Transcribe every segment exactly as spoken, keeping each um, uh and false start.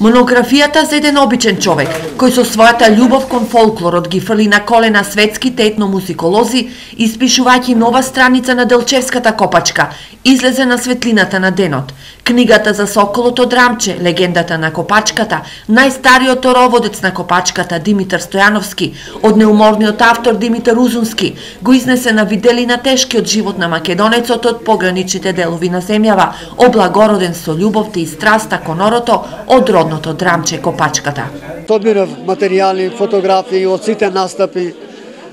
Монографијата за еден обичен човек, кој со својата љубов кон фолклорот ги фрли на колена светските етномузиколози, испишувајќи нова страница на Делчевската копачка, излезе на светлината на денот. Книгата за Соколото Драмче, легендата на копачката, најстариот ороводец на копачката Димитар Стојановски, од неуморниот автор Димитар Узунски, го изнесе на виделина тешкиот живот на македонецот од пограничните делови на земјава, облагороден со љубовта и страста кон орото од родното Драмче копачката. Одбирав материјали, фотографии од сите настапи.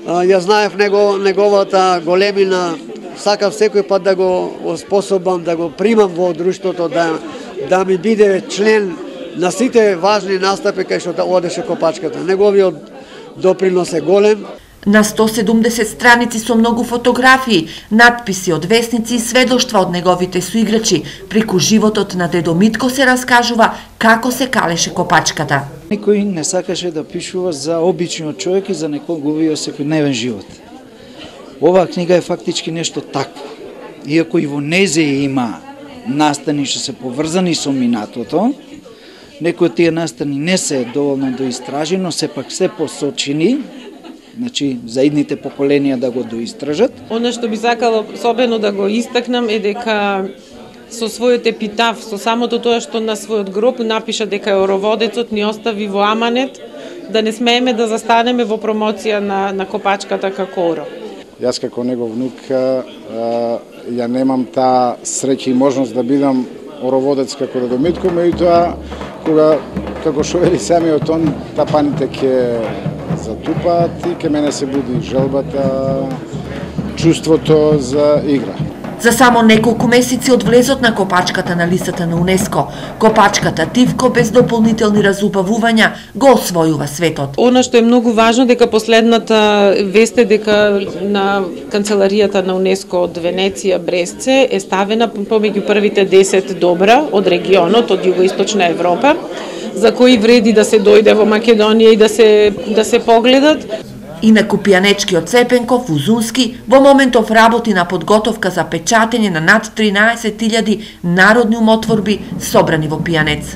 Ја знаев него, неговата големина, сакав секој пат да го способам да го примам во друштвото, да, да ми биде член на сите важни настапи кај што одеше копачката. Неговиот допринос е голем. На сто седумдесет страници со многу фотографии, надписи од весници и сведоштва од неговите соиграчи, преку животот на дедо Митко се раскажува како се калеше копачката. Никој не сакаше да пишува за обичниот човек и за неговиот секојдневен живот. Оваа книга е фактички нешто такво. Иако и во незе има настани што се поврзани со минатото, некои од тие настани не се доволно доистражени, но сепак се посочени, значи за идните поколенија да го доистражат. Она што би сакала особено да го истакнам е дека со својот епитаф, со самото тоа што на својот гроб напиша дека ороводецот ни остави во аманет, да не смееме да застанеме во промоција на, на копачката како оро. Јас како негов внук ја немам таа среќа и можност да бидам ороводец како дедо Митко, меѓутоа кога како што вели самиот он, тапаните ќе затупаат и ке мене се буди желбата, чувството за игра. За само неколку месеци од влезот на копачката на листата на УНЕСКО, копачката Тивко без дополнителни разубавувања го освојува светот. Она што е многу важно дека последната вест е дека на канцеларијата на УНЕСКО од Венеција Бресце е ставена помеѓу првите десет добра од регионот, од југоисточна Европа, за кои вреди да се дојде во Македонија и да се да се погледат. Инаку пијанечкиот Цепенков Узунски во моментов работи на подготовка за печатење на над тринаесет илјади народни умотворби собрани во пијанец.